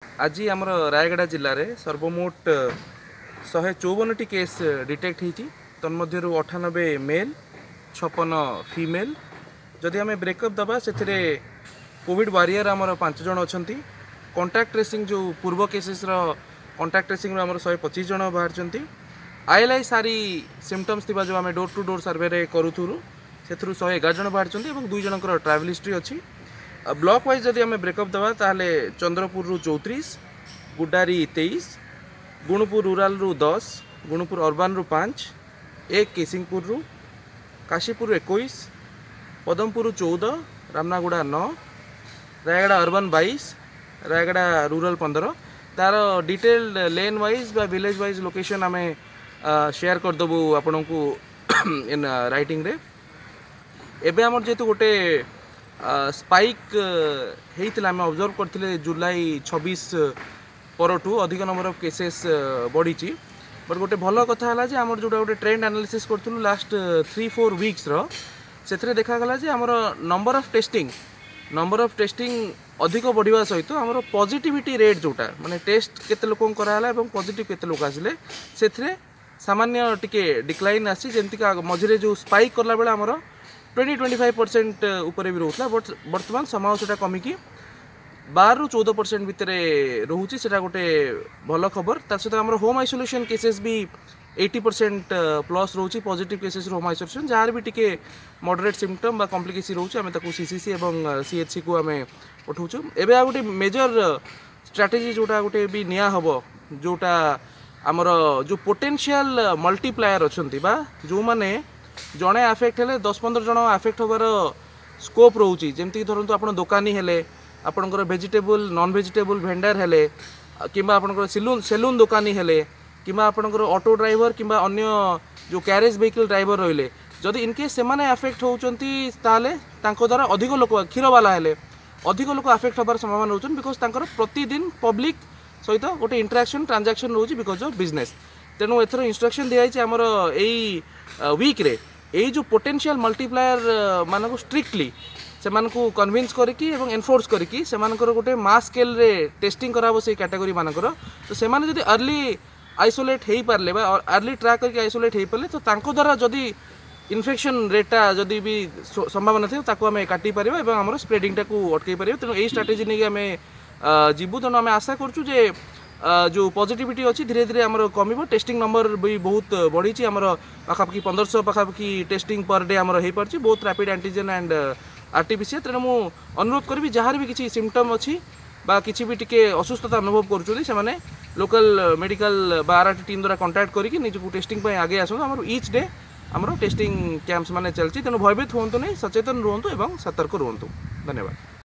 ଆଜି ଆମର ରାୟଗଡ଼ା ଜିଲ୍ଲାରେ ସର୍ବମୋଟ 154ଟି କେସ୍ ଡିଟେକ୍ଟ ହେଇଛି। ତନ୍ମଧ୍ୟରୁ 98 ମେଲ୍, 56 ଫିମେଲ୍। ଯଦି ଆମେ ବ୍ରେକଅପ୍ ଦେବା, ସେଥିରେ କୋଭିଡ଼ ୱାରିୟର ଆମର 5 ଜଣ ଅଛନ୍ତି। କଣ୍ଟାକ୍ଟ ଟ୍ରେସିଂ, ଯେଉଁ ପୂର୍ବ କେସେସ୍ର କଣ୍ଟାକ୍ଟ ଟ୍ରେସିଂରୁ ଆମର 125 ଜଣ ବାହାରିଛନ୍ତି। ଆଇଏଲ୍ଆଇ ସାରି ସିମ୍ପଟମ୍ସ ଥିବା ଯେଉଁ ଆମେ ଡୋର୍ ଟୁ ଡୋର୍ ସର୍ଭେରେ କରୁଥିଲୁ, ସେଥିରୁ 111 ଜଣ ବାହାରିଛନ୍ତି ଏବଂ 2 ଜଣଙ୍କର ଟ୍ରାଭେଲ୍ ହିଷ୍ଟ୍ରି ଅଛି। ବ୍ଲକ୍ ୱାଇଜ୍ ଯଦି ଆମେ ବ୍ରେକଅପ୍ ଦେବା, ତାହେଲେ ଚନ୍ଦ୍ରପୁରରୁ 34, ଗୁଡ଼ାରୀ 23, ଗୁଣପୁର ରୁରାଲରୁ 10, ଗୁଣପୁର ଅର୍ବାନରୁ 5, 1 କେସିଂପୁରରୁ, କାଶୀପୁରରୁ 21, ପଦମପୁରରୁ 14, ରାମନାଗୁଡ଼ା 9, ରାୟଗଡ଼ା ଅର୍ବାନ 22, ରାୟଗଡ଼ା ରୁରାଲ 15। ତାର ଡିଟେଲ୍ଡ ଲେନ୍ ୱାଇଜ୍ ବା ଭିଲେଜ୍ ୱାଇଜ୍ ଲୋକେସନ୍ ଆମେ ସେୟାର କରିଦେବୁ ଆପଣଙ୍କୁ ଇନ୍ ରାଇଟିଂରେ। ଏବେ ଆମର ଯେହେତୁ ଗୋଟେ ସ୍ପାଇକ୍ ହେଇଥିଲା, ଆମେ ଅବଜର୍ଭ କରିଥିଲେ ଜୁଲାଇ 26 ପରଠୁ ଅଧିକ ନମ୍ବର ଅଫ୍ କେସେସ୍ ବଢ଼ିଛି। ବଟ୍ ଗୋଟେ ଭଲ କଥା ହେଲା ଯେ ଆମର ଯେଉଁଟା ଗୋଟେ ଟ୍ରେଣ୍ଡ ଆନାଲିସିସ୍ କରିଥିଲୁ ଲାଷ୍ଟ 3 4 ୱିକ୍ସର, ସେଥିରେ ଦେଖାଗଲା ଯେ ଆମର ନମ୍ବର ଅଫ୍ ଟେଷ୍ଟିଂ ଅଧିକ ବଢ଼ିବା ସହିତ ଆମର ପଜିଟିଭିଟି ରେଟ୍, ଯେଉଁଟା ମାନେ ଟେଷ୍ଟ କେତେ ଲୋକଙ୍କୁ କରାହେଲା ଏବଂ ପଜିଟିଭ୍ କେତେ ଲୋକ ଆସିଲେ, ସେଥିରେ ସାମାନ୍ୟ ଟିକେ ଡିକ୍ଲାଇନ୍ ଆସିଛି। ଯେମିତିକି ମଝିରେ ଯେଉଁ ସ୍ପାଇକ୍ କଲାବେଳେ ଆମର 20 25% ଉପରେ ବି ରହୁଥିଲା, ବଟ୍ ବର୍ତ୍ତମାନ ସମୟ ସେଟା କମିକି 12ରୁ 14% ଭିତରେ ରହୁଛି। ସେଟା ଗୋଟେ ଭଲ ଖବର। ତା ସହିତ ଆମର ହୋମ୍ ଆଇସୋଲେସନ୍ କେସେସ୍ ବି 80% ପ୍ଲସ୍ ରହୁଛି। ପଜିଟିଭ୍ କେସେସ୍ ହୋମ୍ ଆଇସୋଲେସନ୍, ଯାହାର ବି ଟିକେ ମଡରେଟ୍ ସିମ୍ପଟମ୍ ବା କମ୍ପ୍ଲିକେସି ରହୁଛି, ଆମେ ତାକୁ ସିସିସି ଏବଂ ସିଏଚସିକୁ ଆମେ ପଠାଉଛୁ। ଏବେ ଆଉ ଗୋଟେ ମେଜର ଷ୍ଟ୍ରାଟେଜି ଯେଉଁଟା ଗୋଟେ ବି ନିଆ ହେବ, ଯେଉଁଟା ଆମର ଯେଉଁ ପୋଟେନ୍ସିଆଲ ମଲ୍ଟିପ୍ଲାୟର ଅଛନ୍ତି ବା ଯେଉଁମାନେ ଜଣେ ଆଫେକ୍ଟ ହେଲେ 10 15 ଜଣ ଆଫେକ୍ଟ ହେବାର ସ୍କୋପ୍ ରହୁଛି, ଯେମିତିକି ଧରନ୍ତୁ ଆପଣ ଦୋକାନୀ ହେଲେ, ଆପଣଙ୍କର ଭେଜିଟେବୁଲ୍ ନନ୍ ଭେଜିଟେବୁଲ୍ ଭେଣ୍ଡର ହେଲେ, କିମ୍ବା ଆପଣଙ୍କର ସେଲୁନ୍ ଦୋକାନୀ ହେଲେ, କିମ୍ବା ଆପଣଙ୍କର ଅଟୋ ଡ୍ରାଇଭର କିମ୍ବା ଅନ୍ୟ ଯେଉଁ କ୍ୟାରେଜ୍ ଭେହିକିଲ୍ ଡ୍ରାଇଭର ରହିଲେ, ଯଦି ଇନକେସ୍ ସେମାନେ ଆଫେକ୍ଟ ହେଉଛନ୍ତି, ତାହେଲେ ତାଙ୍କ ଦ୍ୱାରା ଅଧିକ ଲୋକ, କ୍ଷୀରବାଲା ହେଲେ, ଅଧିକ ଲୋକ ଆଫେକ୍ଟ ହେବାର ସମ୍ଭାବନା ରହୁଛନ୍ତି, because ତାଙ୍କର ପ୍ରତିଦିନ ପବ୍ଲିକ୍ ସହିତ ଗୋଟେ ଇଣ୍ଟରାକ୍ସନ୍, ଟ୍ରାଞ୍ଜାକ୍ସନ୍ ରହୁଛି because of business. ତେଣୁ ଏଥର ଇନଷ୍ଟ୍ରକ୍ସନ୍ ଦିଆଯାଇଛି, ଆମର ଏଇ ୱିକ୍ରେ ଏଇ ଯେଉଁ ପୋଟେନ୍ସିଆଲ ମଲ୍ଟିପ୍ଲାୟର ମାନଙ୍କୁ ଷ୍ଟ୍ରିକ୍ଟଲି ସେମାନଙ୍କୁ କନଭିନ୍ସ କରିକି ଏବଂ ଏନଫୋର୍ସ କରିକି ସେମାନଙ୍କର ଗୋଟେ ମାସ୍ ସ୍କେଲ୍ରେ ଟେଷ୍ଟିଂ କରାହେବ ସେଇ କ୍ୟାଟାଗୋରୀ ମାନଙ୍କର। ତ ସେମାନେ ଯଦି ଆର୍ଲି ଆଇସୋଲେଟ୍ ହେଇପାରିଲେ ବା ଆର୍ଲି ଟ୍ରାକ୍ କରିକି ଆଇସୋଲେଟ୍ ହେଇପାରିଲେ, ତ ତାଙ୍କ ଦ୍ୱାରା ଯଦି ଇନଫେକ୍ସନ୍ ରେଟ୍ଟା ଯଦି ବି ସମ୍ଭାବନା ଥିବ, ତାକୁ ଆମେ କାଟି ପାରିବା ଏବଂ ଆମର ସ୍ପ୍ରେଡ଼ିଂଟାକୁ ଅଟକେଇ ପାରିବା। ତେଣୁ ଏଇ ଷ୍ଟ୍ରାଟେଜି ନେଇକି ଆମେ ଯିବୁ। ତେଣୁ ଆମେ ଆଶା କରୁଛୁ ଯେ ଯେଉଁ ପଜିଟିଭିଟି ଅଛି, ଧୀରେ ଧୀରେ ଆମର କମିବ। ଟେଷ୍ଟିଂ ନମ୍ବର ବି ବହୁତ ବଢ଼ିଛି। ଆମର ପାଖାପାଖି 1500 ପାଖାପାଖି ଟେଷ୍ଟିଂ ପର୍ ଡେ ଆମର ହେଇପାରୁଛି, ବହୁତ ରାପିଡ଼ ଆଣ୍ଟିଜେନ୍ ଆଣ୍ଡ ଆରଟିପିସିଆର। ତେଣୁ ମୁଁ ଅନୁରୋଧ କରିବି, ଯାହାର ବି କିଛି ସିମ୍ପଟମ୍ ଅଛି ବା କିଛି ବି ଟିକେ ଅସୁସ୍ଥତା ଅନୁଭବ କରୁଛନ୍ତି, ସେମାନେ ଲୋକାଲ ମେଡ଼ିକାଲ ବା ଆର୍ ଟିମ୍ ଦ୍ୱାରା କଣ୍ଟାକ୍ଟ କରିକି ନିଜକୁ ଟେଷ୍ଟିଂ ପାଇଁ ଆଗେଇ ଆସନ୍ତୁ। ଆମର ଇଚ୍ ଡେ ଆମର ଟେଷ୍ଟିଂ କ୍ୟାମ୍ପସ୍ ମାନେ ଚାଲିଛି। ତେଣୁ ଭୟଭୀତ ହୁଅନ୍ତୁ ନାହିଁ, ସଚେତନ ରୁହନ୍ତୁ ଏବଂ ସତର୍କ ରୁହନ୍ତୁ। ଧନ୍ୟବାଦ।